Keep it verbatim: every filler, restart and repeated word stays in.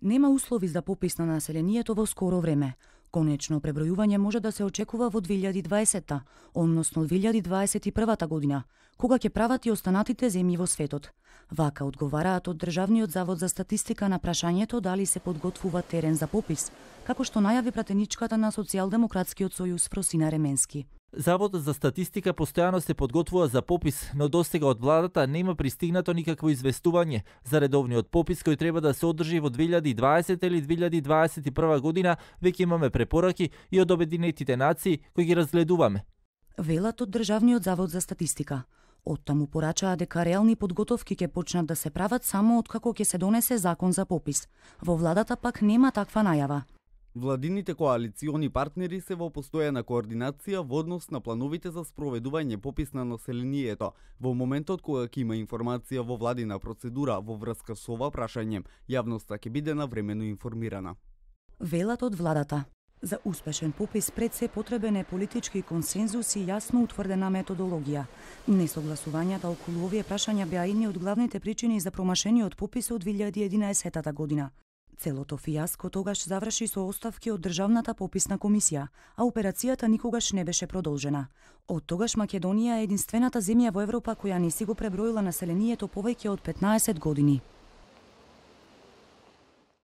Нема услови за попис на населението во скоро време. Конечно пребројување може да се очекува во две илјади и дваесетта, односно две илјади дваесет и прва година, кога ќе прават и останатите земји во светот. Вака одговараат од Државниот завод за статистика на прашањето дали се подготвува терен за попис, како што најави пратеничката на Социјалдемократскиот сојуз Фросина Ременски. Заводот за статистика постојано се подготвува за попис, но достига од владата нема пристигнато никакво известување за редовниот попис кој треба да се одржи во две илјади и дваесетта или две илјади и дваесет и прва година. Веќе имаме препораки и од Обединетите нации кои ги разгледуваме. Велат од Државниот завод за статистика. Оттаму порачаа дека реални подготовки ќе почнат да се прават само откако ќе се донесе закон за попис. Во владата пак нема таква најава. Владините коалициони партнери се во постојана координација во однос на плановите за спроведување попис на населението. Во моментот кога ќе има информација во владина процедура во врска со ова прашање, јавноста ќе биде навремено информирана. Велат од владата. За успешен попис пред се потребен е политички консензус и јасно утврдена методологија. Несогласувањата околу овие прашања беа едни од главните причини за промашениот попис од две илјади и единаесетта година. Целото фијаско тогаш заврши со оставки од Државната пописна комисија, а операцијата никогаш не беше продолжена. Од тогаш Македонија е единствената земја во Европа која не си го преброила населението повеќе од петнаесет години.